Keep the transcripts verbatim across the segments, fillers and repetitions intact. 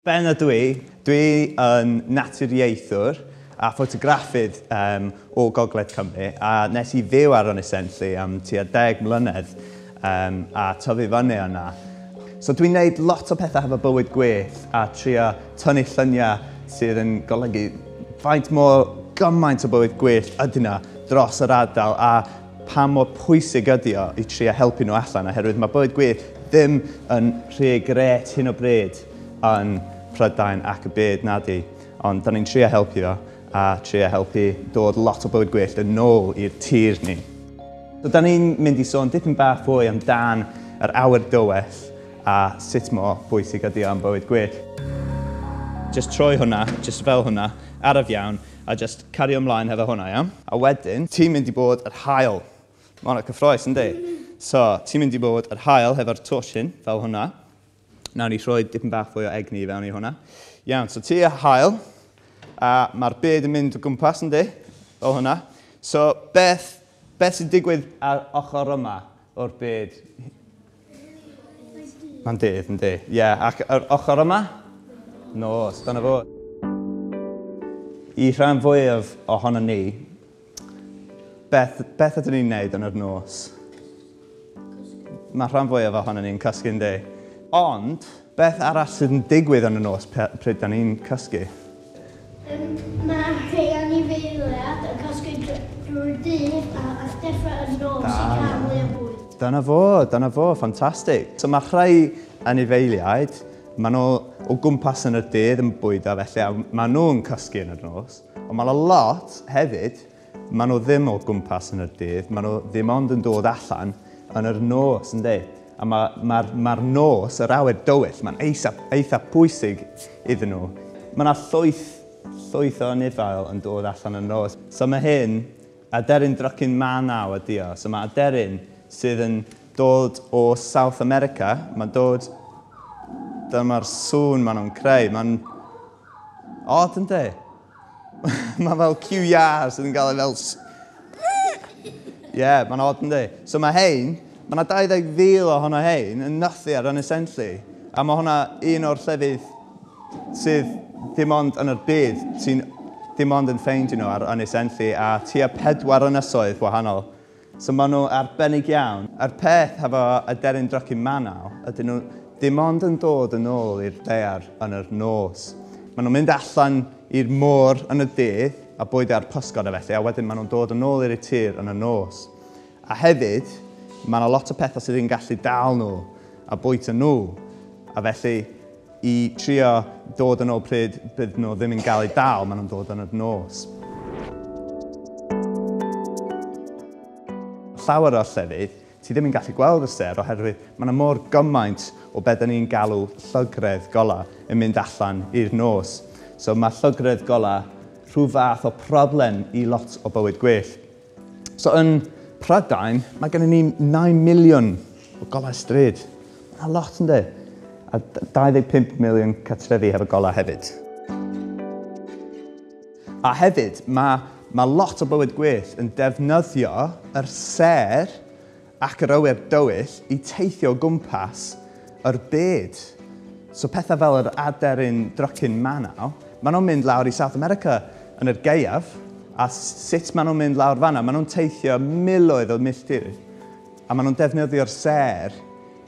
Ben ydw i, dwi yn naturiaethwr a ffotograffydd um, o Gogledd Cymru, a nes i fyw ar Ynys Enlli am tua deg mlynedd um, a tyfu fyny yna. So dwi'n neud lot o pethau hefo bywyd gwyllt a trio tynnu lluniau sydd yn golygu faint mor gymaint o bywyd gwyllt ydy yna dros yr ardal a pa mor pwysig ydy o i trio helpu nhw allan, oherwydd mae bywyd gwyllt ddim yn rhy grêt hyn o bryd yn Prydain ac y byd nadi, ond da ni'n trio helpu o a trio helpu dod lot o bywyd gwyllt yn ôl i'r tir ni. So da ni'n mynd i sôn dipyn bach fwy amdan yr awyr dywyll a sut mor bwysig ydy o am bywyd gwyllt. Just troi hwnna, just fel hwnna, araf iawn, a just cario ymlaen hefo hwnna, iawn? A wedyn, ti'n mynd i bod yr haul. Mae hwnna cyffrous, yndi? So, ti'n mynd i bod yr haul hefo'r torch hyn, fel hwnna. Nawn ni rhoi dipyn bach fwy o egni i fewn i hwnna. Iawn, so ti y haul, a mae'r byd yn mynd o gwmpas, yndi? Fel hwnna. So, beth, beth sy'n digwydd ar ochr yma o'r byd? Mae'n dydd, yndi? Ie, yeah, ac yr ochr yma? Nos, dyna fo. I rhan fwyaf ohono ni, beth, beth ydyn ni'n neud yn yr nos? Mae rhan fwyaf ohono ni'n cysgu, yndi? Ond, beth arall sydd yn digwydd yn y nos pryd da ni'n cysgu? Um, mae rhai anifeiliaid yn cysgu drwy'r dydd a, a deffro yn nos i cael mwy o bwyd. Dyna fo, dyna fo, ffantastig. So mae rhai anifeiliaid, maen nhw o gwmpas yn y dydd yn bwydo felly, a maen nhw'n cysgu yn y nos. Ond mae lot hefyd, maen nhw ddim o gwmpas yn y dydd, maen nhw ddim ond yn dod allan yn yr nos, yndi? A mae'r ma, ma, ma nos, yr awyr dywyll, mae'n eitha, eitha pwysig iddyn nhw. Mae yna llwyth, llwyth o anifail yn dod allan yn nos. So mae hyn, aderyn drycin Manaw ydi o. So mae aderyn sydd yn dod o South America, mae'n dod, dyma'r sŵn maen nhw'n creu. Mae'n odd, yndi? Mae fel Q R sydd yn gael ei fel... Ie, yeah, mae'n odd, yndi? So mae hein, mae yna dau ddeg fil ohono hein yn nythu ar Ynys Enlli. A mae hwnna un o'r llefydd sydd dim ond yn yr byd, sy'n dim ond yn ffeindio nhw ar Ynys Enlli a tua pedwar ynysoedd wahanol. So maen nhw arbennig iawn. A'r peth hefo aderyn drycin Manaw ydyn nhw dim ond yn dod yn ôl i'r daear yn yr nos. Maen nhw'n mynd allan i'r môr yn y dydd a bwydo ar pysgod a felly, a wedyn maen nhw'n dod yn ôl i'r tir yn y nos. A hefyd, mae yna lot o pethau sydd yn gallu dal nhw a bwyta nhw. A felly, i trio dod yn ôl pryd bydd nhw ddim yn gael eu dal, maen nhw'n dod yn y nos. Llawer o'r llefydd, ti ddim yn gallu gweld y sêr oherwydd mae yna mor gymaint o beth ni'n galw llygredd golau yn mynd allan i'r nos. So mae llygredd golau rhyw fath o problem i lot o bywyd gwyllt. So yn Prydain, mae gennym ni naw miliwn o golau stryd. Mae'n lot, yndi? A dau ddeg pump miliwn cartrefi hefo golau hefyd. A hefyd, mae, mae lot o bywyd gwyllt yn defnyddio yr sêr ac yr awyr dywyll i teithio o gwmpas yr byd. So pethau fel yr aderyn drycin Manaw, maen nhw'n mynd lawr i South America yn yr gaeaf, a sut maen nhw'n mynd lawr fan'na, maen nhw'n teithio miloedd o milltir, a maen nhw'n defnyddio'r sêr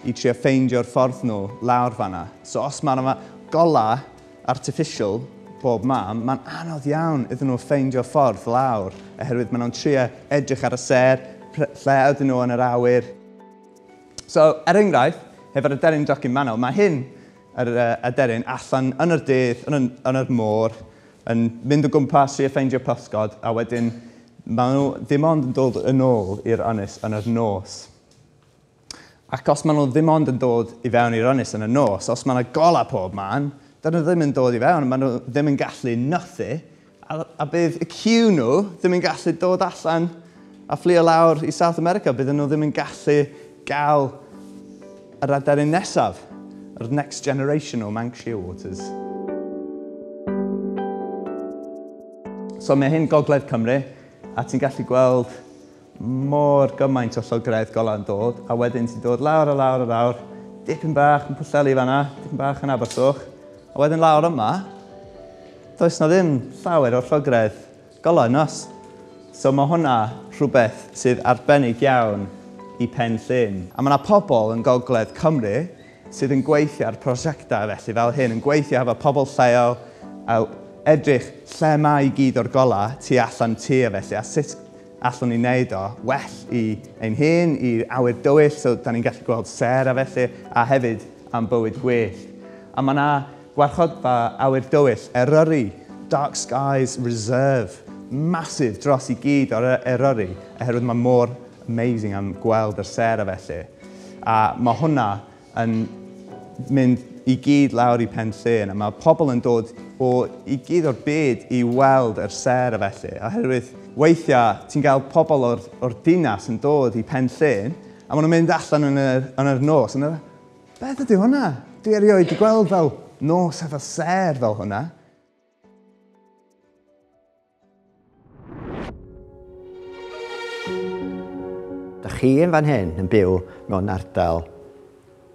i trio ffeindio'r ffordd nhw lawr fan'na. So os maen nhw golau artificial bob man, mae'n anodd iawn iddyn nhw ffeindio'r ffordd lawr, oherwydd maen nhw'n trio edrych ar y sêr, lle ydyn nhw yn yr awyr. So, er enghraifft, hefo'r aderyn drycin Manaw, mae hyn, yr aderyn, allan yn yr dydd, yn, yn yr môr, yn mynd o gwmpas i ffeindio pysgod, a wedyn maen nhw ddim ond yn dod yn ôl i'r ynys yn yr nos. Ac os maen nhw ddim ond yn dod i fewn i'r ynys yn y nos, os maen nhw golau pob man, dyn nhw ddim yn dod i fewn, maen nhw ddim yn gallu nythu, a, a bydd y cyw nhw ddim yn gallu dod allan a fflio lawr i South America, bydden nhw ddim yn gallu gael yr aderyn nesaf, yr next generation o Manx Shearwaters. So mae hyn Gogledd Cymru, a ti'n gallu gweld mor gymaint o llygredd golau yn dod, a wedyn ti'n dod lawr a lawr a lawr, dipyn bach yn Pwllheli fan'na, dipyn bach yn Abersoch, A wedyn lawr yma, does na ddim llawer o'r llygredd golau nos. So mae hwnna rhywbeth sydd arbennig iawn i Pen Llŷn. A mae yna pobl yn Gogledd Cymru sydd yn gweithio ar prosiectau felly fel hyn, yn gweithio efo pobl lleol a edrych lle mae i gyd o'r golau tu allan tir felly, a sut allwn ni wneud o well i ein hun, i awyr dywyll, so da ni'n gallu gweld sêr a felly, a hefyd am bywyd gwyllt. A mae yna gwarchodfa awyr dywyll, Eryri, Dark Skies Reserve, massive dros i gyd o'r Eryri, oherwydd mae mor amazing am gweld yr sêr a felly. A mae hwnna yn mynd i gyd lawr i Pen Llŷn, a mae pobl yn dod o i gyd o'r byd i weld yr sêr a felly. Oherwydd weithiau ti'n gael pobl o'r, o'r dinas yn dod i Pen Llŷn, a maen nhw'n mynd allan yn yr, yn yr nos, a beth ydy hwnna? Dwi erioed wedi gweld fel nos efo sêr fel hwnna. Da chi yn fan hyn yn byw mewn ardal,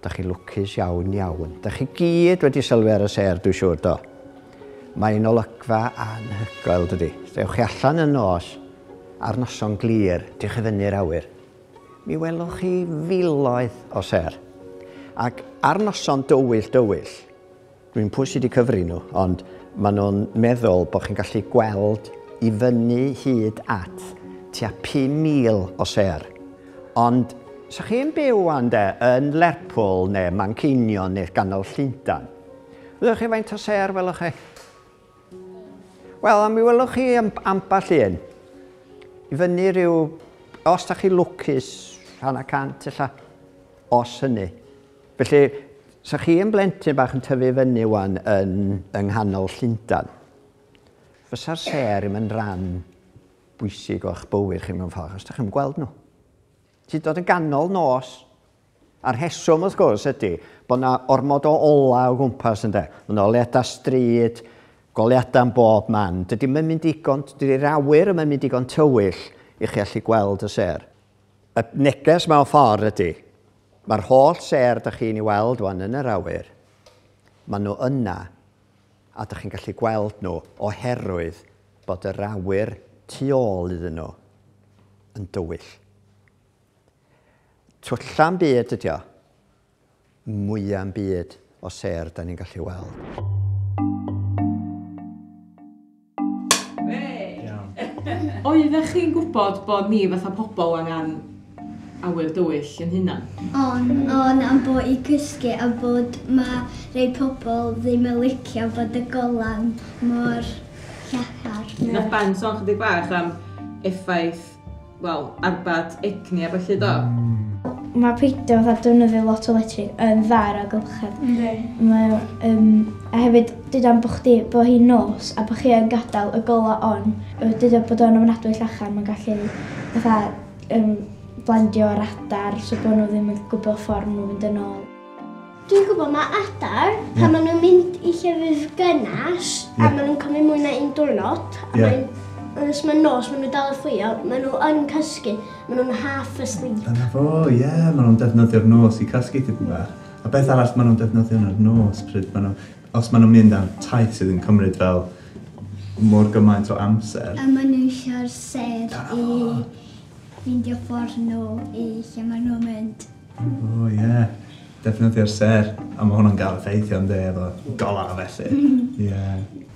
da chi lwcus iawn iawn. Da chi gyd wedi sylwi ar y sêr, dwi'n siŵr do. Mae'n olygfa anhygoel, dydy. Dewch chi allan yn nos, ar noson glir, diwch i fyny'r awyr. Mi welwch chi filoedd o sêr. Ac ar noson dywyll dywyll, dwi'n pwy sydd wedi cyfri nhw, ond maen nhw'n meddwl bod chi'n gallu gweld i fyny hyd at tua pum mil o sêr. Ond, sa chi'n byw wan de, yn Lerpwl neu Manceinion neu ganol Llundain, wyddwch chi faint o sêr welwch chi? Wel, a mi welwch chi ambell un. I fyny rhyw, os da chi lwcus, hanner cant ella, os hynny. Felly, sa chi yn blentyn bach yn tyfu fyny wan yn, yng nghanol Llundain, fysa'r sêr ddim yn rhan bwysig o'ch bywyd chi mewn ffordd, os da chi'n gweld nhw. Ti'n dod yn ganol nos, a'r rheswm wrth gwrs ydy bod yna ormod o ola o gwmpas ynde. Mae yna oleuadau stryd, goleuadau yn bob man. Dydy ddim yn mynd digon, dydy'r awyr ddim yn mynd digon tywyll i chi allu gweld y sêr. Y neges mewn ffordd ydy, mae'r holl sêr da chi'n ei weld wan yn yr awyr, maen nhw yna, a da chi'n gallu gweld nhw oherwydd bod yr awyr tu ôl iddyn nhw yn dywyll. Twlla'n byd ydi o, mwya'n byd o sêr da ni'n gallu weld. Oeddech chi'n gwybod bod ni fatha pobl angen awyr dywyll yn hunan? On, on, am bod i cysgu a bod mae rhai pobl ddim yn licio bod y golan mor llachar. Nath Ben sôn chydig bach am effaith, wel, arbad egni a felly do? Mae peidio fatha defnyddio lot o electric yn dda ar amgylchedd. Mae, um, a hefyd, deuda bod chdi, bod hi'n nos a bod chi yn gadael y gola on, deuda bod o'n ofnadwy llachar, mae'n gallu fatha um, blandio ar adar, so bod nhw ddim yn gwybod ffordd nhw'n mynd yn ôl. Dwi'n gwybod mae adar, pan yeah. maen nhw'n mynd i llefydd gynnas, yeah. a maen nhw'n cymryd mwy na un diwrnod, a yeah. mae'n os mae'n nos, maen nhw dal y fflio, maen nhw yn cysgu, maen nhw'n half asleep. Dyna fo, ie, yeah, maen nhw'n defnyddio'r nos i cysgu tipyn bach. A beth arall maen nhw'n defnyddio yn yr nos, pryd maen nhw, os maen nhw'n mynd am taith sydd yn cymryd fel mor gymaint o amser. A maen nhw eisiau'r sêr i ffeindio ffordd nhw i lle maen nhw'n mynd. O, ie. Yeah. Defnyddio'r sêr, a mae hwnna'n gael effeithio ynddi efo golau felly. Ie.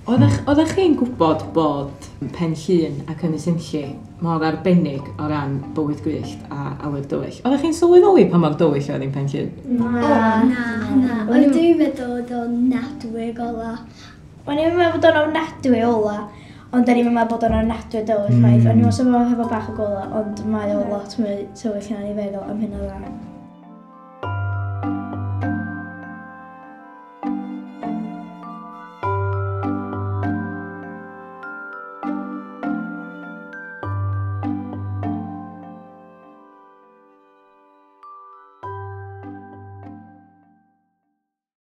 Oeddech chi'n gwybod bod Pen Llŷn ac Ynys Enlli mor arbennig o ran bywyd gwyllt a awyr dywyll? Oeddech chi'n sylweddoli pa mor dywyll oedd hi'n Pen Llŷn? Na. O, na, na. O'n i'n meddwl bod o'n ofnadwy gola. O'n i'n meddwl bod o'n ofnadwy ola, ond o'n i'n meddwl bod o'n ofnadwy dywyll chwaith. O'n i'n meddwl hefo bach o gola, ond mae o lot mwy tywyll na o'n i'n feddwl am hynna dda.